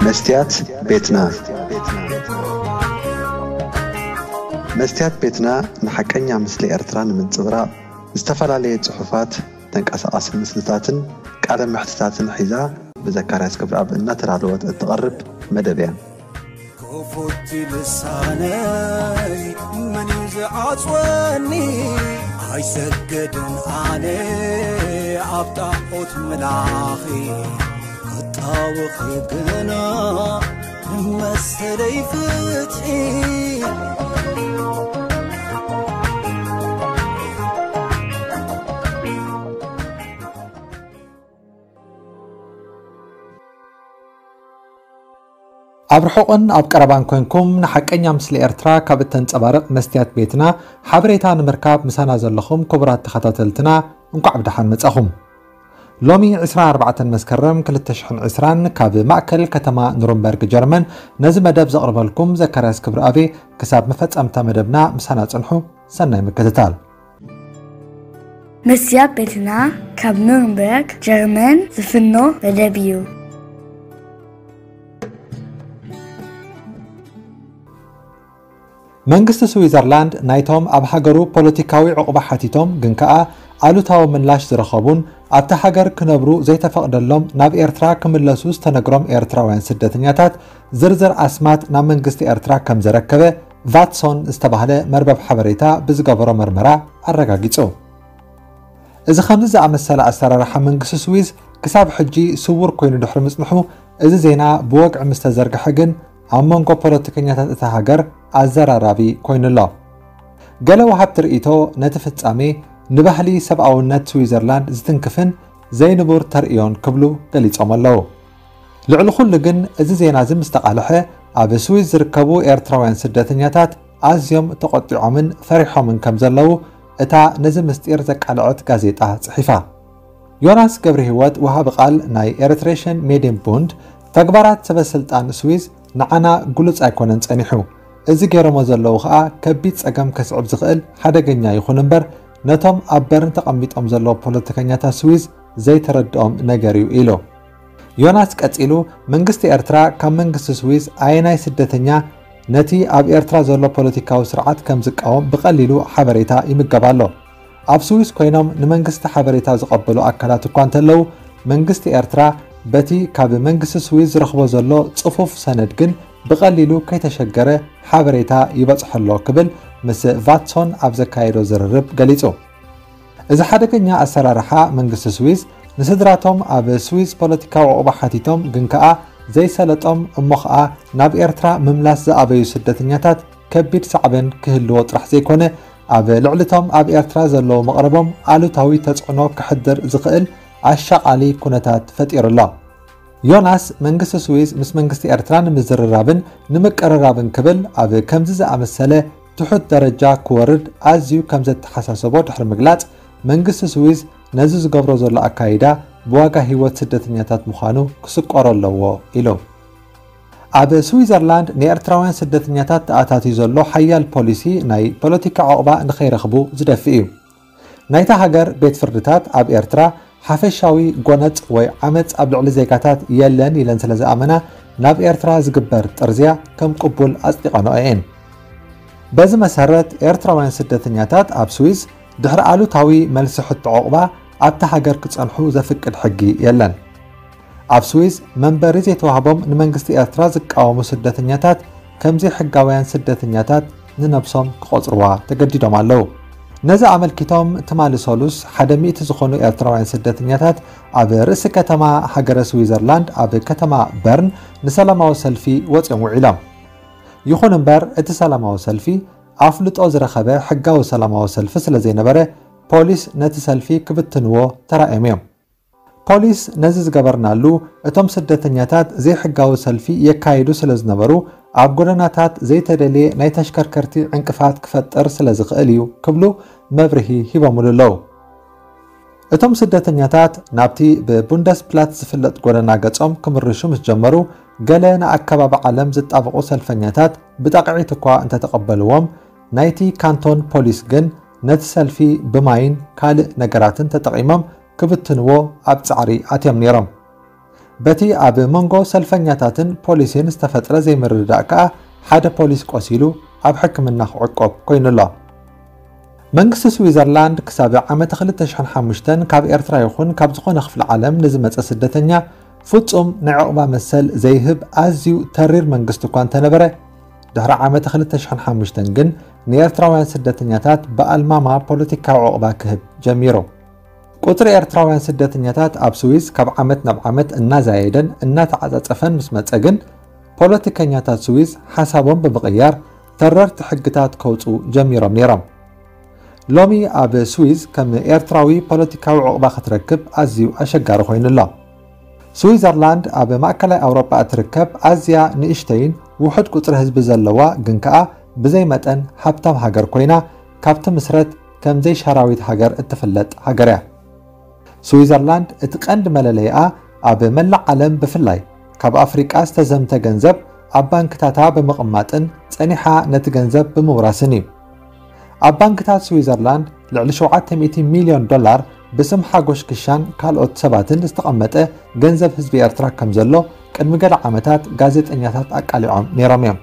መስትያት ቤትና። መስትያት ቤትና ንሓቀኛ ምስሊ ኤርትራ ንምንጽብራቕ ዝተፈላለየ ጽሑፋት፣ ተንቀሳቓሲ ምስልታትን ቃለ መሕትታትን ሒዛ ብዘካርያስ ክብረኣብ እናተዳለወት እትቐርብ መደብ እያ። ክፉት ልሳነይ መን እዩ ዝዓጽወኒ? ኣይሰገድን ኣነ ኣብ ጣዖት ምላኺ፣ ክጣወኺ ግና ንመሰለይ ፍትሒ። ኣብ ርሑቕን ኣብ ቀረባን ኮንኩም ንሓቀኛ ምስሊ ኤርትራ ካብ እተንጸባርቕ መስትያት ቤትና ሓበሬታ ንምርካብ ምሳና ዘለኹም ክቡራት ተኸታተልትና እንኳዕ ብደሓን መጻኹም። ሎሚ ዕስራን ኣርባዕተን መስከረም ክልተ ሽሕን ዕስራን ካብ ማእከል ከተማ ኑርንበርግ ጀርመን ነዚ መደብ ዘቕርበልኩም ዘካርያስ ክብረኣብ። ክሳብ መፈጸምታ መደብና ምሳና ጽንሑ። ሰናይ ምክትታል። መስትያት ቤትና ካብ ኑርንበርግ ጀርመን ዝፍኖ መደብ እዩ። መንግስቲ ስዊዘርላንድ ናይቶም ኣብ ሃገሩ ፖለቲካዊ ዕቑባ ሓቲቶም ግን ከኣ ኣሉታዊ ምላሽ ዝረኸቡን ኣብታ ሃገር ክነብሩ ዘይተፈቕደሎም ናብ ኤርትራ ክምለሱ ዝተነግሮም ኤርትራውያን ስደተኛታት ዝርዝር ኣስማት ናብ መንግስቲ ኤርትራ ከም ዘረከበ ቫትሶን ዝተባህለ መርበብ ሓበሬታ ብዝገበሮ መርመራ ኣረጋጊጹ። እዚ ከምዚ ዝኣመሰለ ኣሰራርሓ መንግስቲ ስዊዝ ክሳብ ሕጂ ስዉር ኮይኑ ድሕሪ ምጽንሑ፣ እዚ ዜና ብወግዒ ምስ ተዘርግሐ ግን ኣብ መንጎ ፖለቲከኛታት እታ ሃገር ኣዘራራቢ ኮይኑ ኣሎ። ገለ ወሃብቲ ርእይቶ ነቲ ፍጻሜ ንባህሊ ሰብኣውነት ስዊዘርላንድ ዝትንክፍን ዘይንቡር ተርእዮን ክብሉ ገሊጾም ኣለዉ። ልዕሊ ኩሉ ግን እዚ ዜና እዚ ምስ ተቓልሐ፣ ኣብ ስዊዝ ዝርከቡ ኤርትራውያን ስደተኛታት ኣዝዮም ተቖጢዖምን ፈሪሖምን ከም ዘለዉ እታ ነዚ ምስጢር ዘቃልዐት ጋዜጣ ጽሒፋ። ዮናስ ገብረሂወት፣ ወሃቢ ቃል ናይ ኤሪትሬሽን ሜድየን ቡንድ፣ ተግባራት ሰበ ስልጣን ስዊዝ ንዓና ግሉጽ ኣይኮነን ጸኒሑ። እዚ ገይሮሞ ዘለዉ ኸኣ ከቢድ ጸገም ከስዕብ ዝኽእል ሓደገኛ ይኹን እምበር፣ ነቶም ኣብ በርን ተቐሚጦም ዘለዉ ፖለቲከኛታት ስዊዝ ዘይተረድኦም ነገር እዩ ኢሉ። ዮናስ ቀጺሉ፣ መንግስቲ ኤርትራ ካብ መንግስቲ ስዊዝ ኣየናይ ስደተኛ ነቲ ኣብ ኤርትራ ዘሎ ፖለቲካዊ ስርዓት ከም ዝቃወም ብቐሊሉ ሓበሬታ ይምገብ ኣሎ። ኣብ ስዊዝ ኮይኖም ንመንግስቲ ሓበሬታ ዝቐበሉ ኣካላት እኳ እንተለዉ፣ መንግስቲ ኤርትራ በቲ ካብ መንግስቲ ስዊዝ ዝረኽቦ ዘሎ ጽፉፍ ሰነድ ግን ብቐሊሉ ከይተሸገረ ሓበሬታ ይበጽሖ ኣሎ ክብል ምስ ቫትሶን ኣብ ዘካየዶ ዝርርብ ገሊጹ። እዚ ሓደገኛ ኣሰራርሓ መንግስቲ ስዊዝ ንስድራቶም ኣብ ስዊዝ ፖለቲካዊ ዕቑባ ሓቲቶም ግን ከኣ ዘይሰለጦም እሞ ኸኣ ናብ ኤርትራ ምምላስ ዝኣበዩ ስደተኛታት ከቢድ ሳዕቤን ክህልዎ ጥራሕ ዘይኮነ ኣብ ልዕሊቶም ኣብ ኤርትራ ዘለዉ መቕረቦም ኣሉታዊ ተጽዕኖ ክሕድር ዝኽእል ኣሻቓሊ ኩነታት ፈጢሩ ኣሎ። ዮናስ መንግስቲ ስዊዝ ምስ መንግስቲ ኤርትራ ንምዝርራብን ንምቅርራብን ክብል ኣብ ከምዚ ዝኣመሰለ ትሑት ደረጃ ክወርድ ኣዝዩ ከም ዘተሓሳሰቦ ድሕሪ ምግላጽ፣ መንግስቲ ስዊዝ ነዚ ዝገብሮ ዘሎ ኣካይዳ ብዋጋ ህይወት ስደተኛታት ምዃኑ ክስቆሮ ኣለዎ ኢሉ። ኣብ ስዊዘርላንድ ንኤርትራውያን ስደተኛታት ተኣታትዩ ዘሎ ሓያል ፖሊሲ ናይ ፖለቲካ ዕቑባ ንኸይረኽቡ ዝደፍእ እዩ። ናይታ ሃገር ቤት ፍርድታት ኣብ ኤርትራ ሓፈሻዊ ጎነጽ ወይ ዓመጽ ኣብ ልዕሊ ዜጋታት የለን ኢለን ስለ ዝኣመና፣ ናብ ኤርትራ ዝግበር ጥርዝያ ከም ቅቡል ኣጽዲቐንኦ እየን። በዚ መሰረት፣ ኤርትራውያን ስደተኛታት ኣብ ስዊዝ ድሕሪ ኣሉታዊ መልሲ ሕቶ ዕቑባ ኣብታ ሃገር ክጸንሑ ዘፍቅድ ሕጊ የለን። ኣብ ስዊዝ መንበሪ ዘይተዋህቦም ንመንግስቲ ኤርትራ ዝቃወሙ ስደተኛታት ከም ዘይሕጋውያን ስደተኛታት ንነብሶም ክቖጽርዋ ተገዲዶም ኣለዉ። ነዚ ኣመልኪቶም ትማሊ ሰሉስ ሓደ ሚእቲ ዝኾኑ ኤርትራውያን ስደተኛታት ኣብ ርእሲ ከተማ ሃገረ ስዊዘርላንድ ኣብ ከተማ በርን ንሰላማዊ ሰልፊ ወጺኦም ውዒሎም። ይኹን እምበር እቲ ሰላማዊ ሰልፊ ኣፍልጦ ዝረኸበ ሕጋዊ ሰላማዊ ሰልፊ ስለ ዘይነበረ ፖሊስ ነቲ ሰልፊ ክብትንዎ ተራእዮም እዮም። ፖሊስ ነዚ ዝገበርናሉ፣ እቶም ስደተኛታት ዘይሕጋዊ ሰልፊ የካይዱ ስለ ዝነበሩ፣ ኣብ ጎደናታት ዘይተደልየ ናይ ተሽከርከርቲ ዕንቅፋት ክፈጥር ስለ ዝኽእል እዩ ክብሉ መብርሂ ሂቦምሉ ኣለዉ። እቶም ስደተኛታት ናብቲ ብቡንደስፕላት ዝፍለጥ ጎደና ገጾም ክምርሹ ምስ ጀመሩ፣ ገለ ንኣከባቢ ዓለም ዝጣበቑ ሰልፈኛታት ብጣቕዒት እኳ እንተተቐበልዎም፣ ናይቲ ካንቶን ፖሊስ ግን ነቲ ሰልፊ ብማይን ካልእ ነገራትን ተጠቒሞም ክብትንዎ ኣብ ጻዕሪ ኣትዮም ነይሮም። በቲ ኣብ መንጎ ሰልፈኛታትን ፖሊስን ዝተፈጥረ ዘይምርድዳእ ከኣ ሓደ ፖሊስ ቆሲሉ ኣብ ሕክምና ክዕቆብ ኮይኑ ኣሎ። መንግስቲ ስዊዘርላንድ ክሳብ ዓመት ክልተ ሽሕን ሓሙሽተን ካብ ኤርትራ ይኹን ካብ ዝኾነ ክፍሊ ዓለም ንዝመጸ ስደተኛ ፍጹም ናይ ዑቕባ መሰል ዘይህብ ኣዝዩ ተሪር መንግስቲ እኳ እንተነበረ፣ ድሕሪ ዓመት ክልተ ሽሕን ሓሙሽተን ግን ንኤርትራውያን ስደተኛታት ብኣልማማ ፖለቲካዊ ዑቕባ ክህብ ጀሚሩ። ቁጽሪ ኤርትራውያን ስደተኛታት ኣብ ስዊዝ ካብ ዓመት ናብ ዓመት እናዛየደን እናተዓጻጸፈን ምስ መጸ ግን፣ ፖለቲከኛታት ስዊዝ ሓሳቦም ብምቕያር ተረርቲ ሕግታት ከውጽኡ ጀሚሮም ነይሮም። ሎሚ ኣብ ስዊዝ ከም ኤርትራዊ ፖለቲካዊ ዑቕባ ክትረክብ ኣዝዩ ኣሸጋሪ ኮይኑ ኣሎ። ስዊዘርላንድ ኣብ ማእከላይ ኣውሮጳ እትርከብ ኣዝያ ንእሽተይን ውሑድ ቁጽሪ ህዝቢ ዘለዋ ግን ከኣ ብዘይ መጠን ሃብታም ሃገር ኮይና፣ ካብ ትምስረት ከም ዘይሻራዊት ሃገር እትፍለጥ ሃገር እያ። ስዊዘርላንድ እቲ ቀንዲ መለለይኣ ኣብ መላእ ዓለም ብፍላይ ካብ ኣፍሪቃ ዝተዘምተ ገንዘብ ኣብ ባንክታታ ብምቕማጥን ጸኒሓ ነቲ ገንዘብ ብምውራስን እዩ። ኣብ ባንክታት ስዊዘርላንድ ልዕሊ ሸውዓተ ሚእቲ ሚልዮን ዶላር ብስም ሓጎሽ ክሻን ካልኦት ሰባትን ዝተቐመጠ ገንዘብ ህዝቢ ኤርትራ ከም ዘሎ ቅድሚ ገለ ዓመታት ጋዜጠኛታት ኣቃሊዖም ነይሮም እዮም።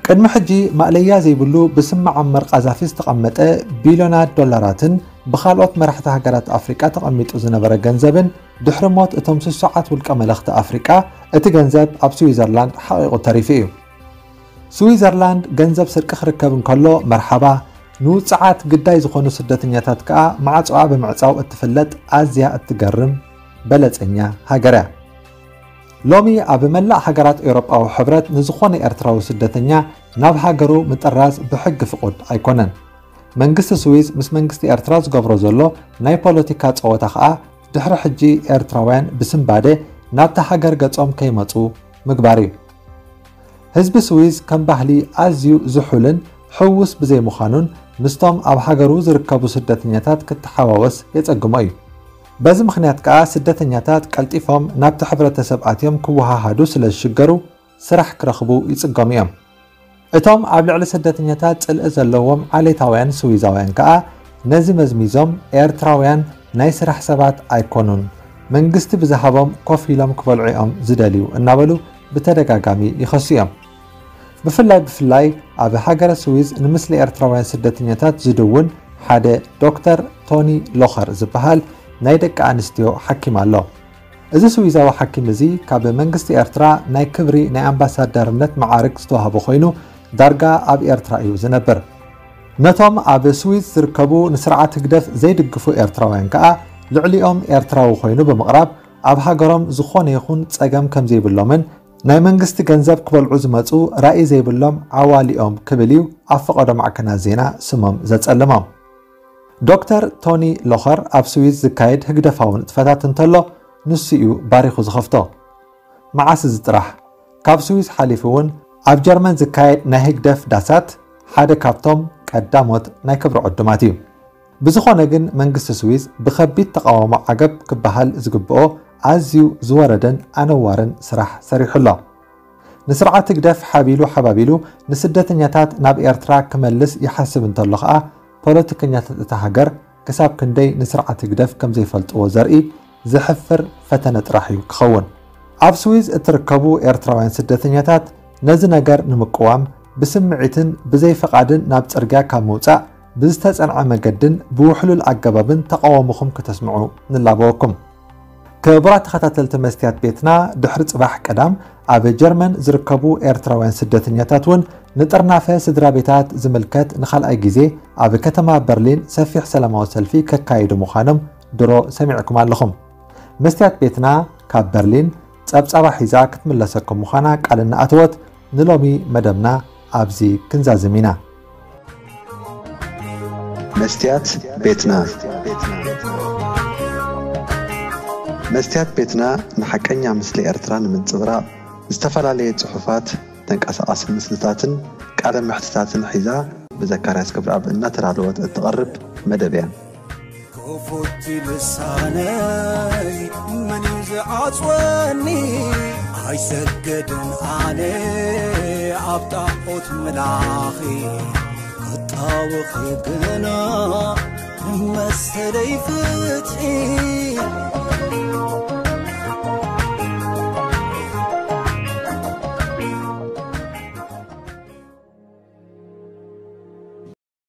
ቅድሚ ሕጂ ማእለያ ዘይብሉ ብስም መዓመር ቃዛፊ ዝተቐመጠ ቢልዮናት ዶላራትን ብኻልኦት መራሕቲ ሃገራት ኣፍሪቃ ተቐሚጡ ዝነበረ ገንዘብን ድሕሪ ሞት እቶም ስሱዓት ውልቀ መለኽቲ ኣፍሪቃ እቲ ገንዘብ ኣብ ስዊዘርላንድ ሓቒቑ ተሪፉ እዩ። ስዊዘርላንድ ገንዘብ ስርቂ ክርከብ እንከሎ መርሓባ፣ ንውጽዓት ግዳይ ዝኾኑ ስደተኛታት ከኣ ማዕጾኣ ብምዕጻው እትፍለጥ ኣዝያ እትገርም በለጸኛ ሃገር እያ። ሎሚ ኣብ መላእ ሃገራት ኤውሮጳዊ ሕብረት ንዝኾነ ኤርትራዊ ስደተኛ ናብ ሃገሩ ምጥራዝ ብሕጊ ፍቑድ ኣይኮነን። መንግስቲ ስዊዝ ምስ መንግስቲ ኤርትራ ዝገብሮ ዘሎ ናይ ፖለቲካ ጸወታ ከኣ ድሕሪ ሕጂ ኤርትራውያን ብስንባደ ናብታ ሃገር ገጾም ከይመጹ ምግባር እዩ። ህዝቢ ስዊዝ ከም ባህሊ ኣዝዩ ዝሑልን ሕዉስ ብዘይምዃኑን ምስቶም ኣብ ሃገሩ ዝርከቡ ስደተኛታት ክተሓዋወስ የጸግሞ እዩ። በዚ ምኽንያት ከኣ ስደተኛታት ቀልጢፎም ናብቲ ሕብረተሰብ ኣትዮም ክወሃሃዱ ስለ ዝሽገሩ ስራሕ ክረኽቡ ይጽገሙ እዮም። እቶም ኣብ ልዕሊ ስደተኛታት ጽልኢ ዘለዎም ዓሌታውያን ስዊዛውያን ከኣ ነዚ መዝሚዞም ኤርትራውያን ናይ ስራሕ ሰባት ኣይኮኑን፣ መንግስቲ ብዝሃቦም ኮፍ ኢሎም ክበልዑ እዮም ዝደልዩ እናበሉ ብተደጋጋሚ ይኸሱ እዮም። ብፍላይ ብፍላይ ኣብ ሃገረ ስዊዝ ንምስሊ ኤርትራውያን ስደተኛታት ዝድውን ሓደ ዶክተር ቶኒ ሎኸር ዝበሃል ናይ ደቂ ኣንስትዮ ሓኪም ኣሎ። እዚ ስዊዛዊ ሓኪም እዚ ካብ መንግስቲ ኤርትራ ናይ ክብሪ ናይ ኣምባሳደርነት መዓርግ ዝተዋህቦ ኮይኑ ዳርጋ ኣብ ኤርትራ እዩ ዝነብር። ነቶም ኣብ ስዊዝ ዝርከቡ ንስርዓት ህግደፍ ዘይድግፉ ኤርትራውያን ከኣ ልዕሊኦም ኤርትራዊ ኮይኑ ብምቕራብ ኣብ ሃገሮም ዝኾነ ይኹን ጸገም ከም ዘይብሎምን ናይ መንግስቲ ገንዘብ ክበልዑ ዝመጹ ራኢ ዘይብሎም ዓዋሊኦም ክብል እዩ ኣብ ፈቐዶ ማዕከናት ዜና ስሞም ዘጸልሞም። ዶክተር ቶኒ ሎኸር ኣብ ስዊዝ ዝካየድ ህግደፋዊ ንጥፈታት እንተሎ ንሱ እዩ ባሪኹ ዝኸፍቶ። መዓስ እዚ ጥራሕ፣ ካብ ስዊዝ ሓሊፉ እውን ኣብ ጀርመን ዝካየድ ናይ ህግደፍ ዳሳት ሓደ ካብቶም ቀዳሞት ናይ ክብሪ ዕዱማት እዩ። ብዝኾነ ግን መንግስቲ ስዊዝ ብኸቢድ ተቓውሞ ዓገብ ክበሃል ዝግብኦ ኣዝዩ ዝወረደን ኣነዋርን ስራሕ ሰሪሑ ኣሎ። ንስርዓት ህግደፍ ሓቢሉ ሓባቢሉ ንስደተኛታት ናብ ኤርትራ ክመልስ ይሓስብ እንተሎ ኸኣ ፖለቲከኛታት እታ ሃገር ክሳብ ክንደይ ንስርዓት ህግደፍ ከም ዘይፈልጥዎ ዘርኢ ዘሕፍር ፈተነ ጥራሕ እዩ ክኸውን። ኣብ ስዊዝ እትርከቡ ኤርትራውያን ስደተኛታት ነዚ ነገር ንምቅዋም ብስምዒትን ብዘይ ፈቓድን ናብ ጽርግያ ካብ ምውጻእ ብዝተጸንዐ መገድን ብውሕሉል ኣገባብን ተቃውሞኹም ከተስምዑ ንላበወኩም። ክቡራት ተኸታተልቲ መስትያት ቤትና፣ ድሕሪ ጽባሕ ቀዳም ኣብ ጀርመን ዝርከቡ ኤርትራውያን ስደተኛታት እውን ንጥርናፈ ስድራ ቤታት ዝምልከት ንኻልኣይ ግዜ ኣብ ከተማ በርሊን ሰፊሕ ሰላማዊ ሰልፊ ከካይዱ ምዃኖም ድሮ ሰሚዕኩም ኣለኹም። መስትያት ቤትና ካብ በርሊን ጸብጻባ ሒዛ ክትምለሰኩም ምዃና ቃል እናኣተወት ንሎሚ መደብና ኣብዚ ክንዛዝም ኢና። መስትያት ቤትና። መስትያት ቤትና ንሓቀኛ ምስሊ ኤርትራ ንምንጽብራቕ ዝተፈላለየ ጽሑፋት፣ ተንቀሳቓሲ ምስልታትን ቃለ መሕትታትን ሒዛ ብዘካርያስ ክብረኣብ እናተዳለወት እትቐርብ መደብ እያ። ክፉት ልሳነይ መን እዩ ዝዓጽወኒ? ኣይሰገድን ኣነ ኣብ ጣዖት ምላኺ ክጣወኺ ግና መሰለይ ፍትሒ